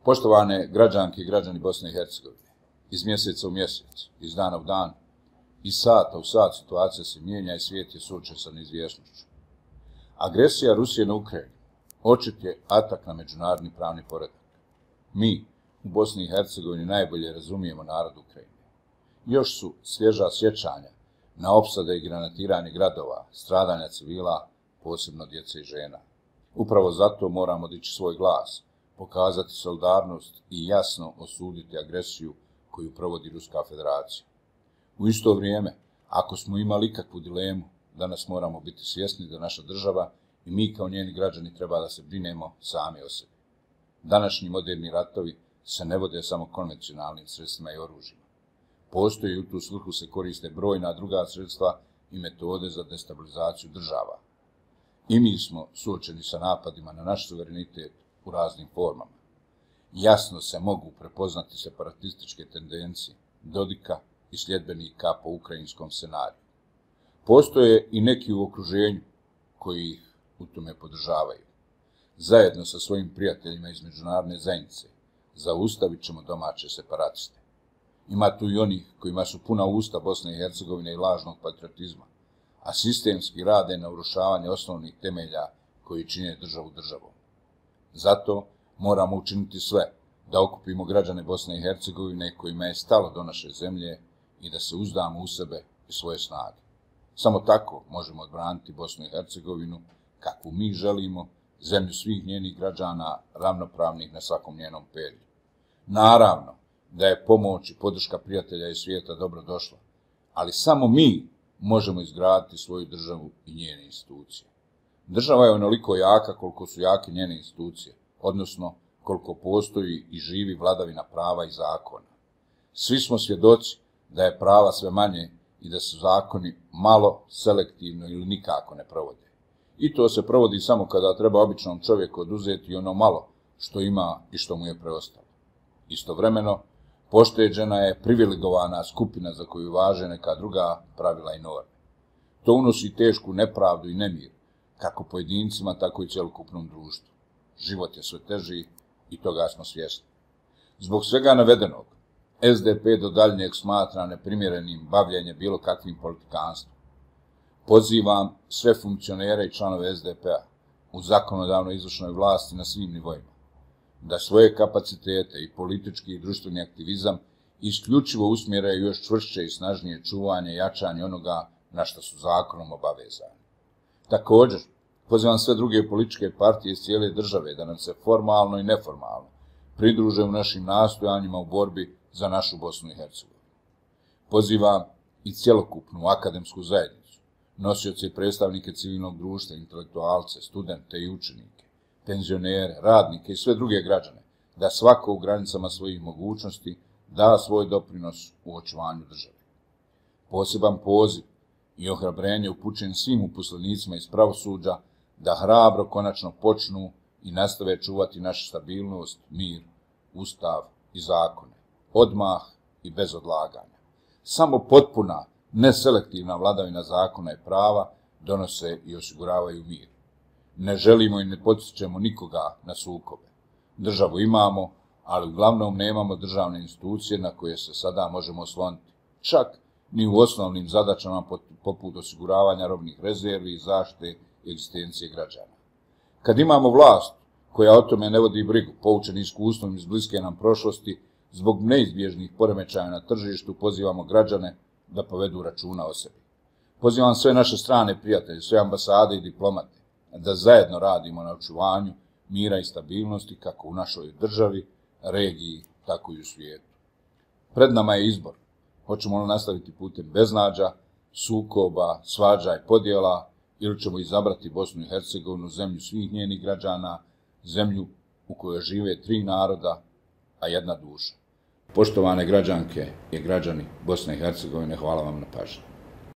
Poštovane građanke i građani Bosne i Hercegovine, iz mjeseca u mjesec, iz dana u dan, iz sata u sat situacija se mijenja i svijet je suočen sa neizvjesnošću. Agresija Rusije na Ukrajinu očit je atak na međunarodni pravni poredak. Mi u Bosni i Hercegovini najbolje razumijemo narod Ukrajine. Još su svježa sjećanja na opsade i granatiranje gradova, stradanja civila, posebno djece i žena. Upravo zato moramo dići svoj glas, pokazati solidarnost i jasno osuditi agresiju koju provodi Ruska federacija. U isto vrijeme, ako smo imali ikakvu dilemu, danas moramo biti svjesni da naša država i mi kao njeni građani treba da se brinemo sami o sebi. Današnji moderni ratovi se ne vode samo konvencionalnim sredstvima i oružjima. Postoji u tu svrhu se koriste brojna druga sredstva i metode za destabilizaciju država. I mi smo suočeni sa napadima na naš suverenitet u raznim formama. Jasno se mogu prepoznati separatističke tendencije Dodika i sljedbenika po ukrajinskom scenariju. Postoje i neki u okruženju koji ih u tome podržavaju. Zajedno sa svojim prijateljima iz međunarodne zajednice zaustavit ćemo domaće separatiste. Ima tu i onih kojima su puna usta Bosne i Hercegovine i lažnog patriotizma, a sistemski rade na urušavanje osnovnih temelja koji čine državu državom. Zato moramo učiniti sve da okupimo građane Bosne i Hercegovine kojima je stalo do naše zemlje i da se uzdamo u sebe i svoje snage. Samo tako možemo odbraniti Bosnu i Hercegovinu kakvu mi želimo, zemlju svih njenih građana ravnopravnih na svakom njenom perju. Naravno da je pomoć i podrška prijatelja i svijeta dobro došla, ali samo mi možemo izgraditi svoju državu i njene institucije. Država je onoliko jaka koliko su jake njene institucije, odnosno koliko postoji i živi vladavina prava i zakona. Svi smo svjedoci da je prava sve manje i da su zakoni malo, selektivno ili nikako ne provode. I to se provodi samo kada treba običnom čovjeku oduzeti ono malo što ima i što mu je preostalo. Istovremeno, pošteđena je privilegovana skupina za koju važe neka druga pravila i norme. To unosi tešku nepravdu i nemir, kako pojedincima, tako i cjelokupnom društvu. Život je sve teži i toga smo svjesni. Zbog svega navedenog, SDP do daljnjeg smatra neprimjerenim bavljenje bilo kakvim politikanstvom. Pozivam sve funkcionere i članove SDP-a u zakonodavnoj izvršnoj vlasti na svim nivoima da svoje kapacitete i politički i društveni aktivizam isključivo usmjeraju još čvršće i snažnije čuvanje i jačanje onoga na što su zakonom obavezani. Također, pozivam sve druge političke partije iz cijele države da nam se formalno i neformalno pridruže u našim nastojanjima u borbi za našu Bosnu i Hercegovinu. Pozivam i cjelokupnu akademsku zajednicu, nosioce i predstavnike civilnog društva, intelektualce, studente i učenike, penzionere, radnike i sve druge građane, da svako u granicama svojih mogućnosti da svoj doprinos u očuvanju države. Poseban poziv i ohrabrenje upućen svim uposlenicima iz pravosuđa da hrabro konačno počnu i nastave čuvati našu stabilnost, mir, ustav i zakone, odmah i bez odlaganja. Samo potpuna, neselektivna vladavina zakona i prava donose i osiguravaju mir. Ne želimo i ne potičemo nikoga na sukobe. Državu imamo, ali uglavnom nemamo državne institucije na koje se sada možemo osloniti. Čak ni u osnovnim zadaćama poput osiguravanja robnih rezervi i zaštite egzistencije građana. Kad imamo vlast koja o tome ne vodi brigu, poučeni iskustvom iz bliske nam prošlosti, zbog neizbježnih poremećaja na tržištu pozivamo građane da povedu računa o sebi. Pozivam sve naše strane prijatelje, sve ambasade i diplomate da zajedno radimo na očuvanju mira i stabilnosti kako u našoj državi, regiji, tako i u svijetu. Pred nama je izbor. Hoćemo li nastaviti putem beznađa, sukoba, svađa i podjela ili ćemo izabrati Bosnu i Hercegovinu, zemlju svih njenih građana, zemlju u kojoj žive 3 naroda, a 1 duša. Poštovane građanke i građani Bosne i Hercegovine, hvala vam na pažnji.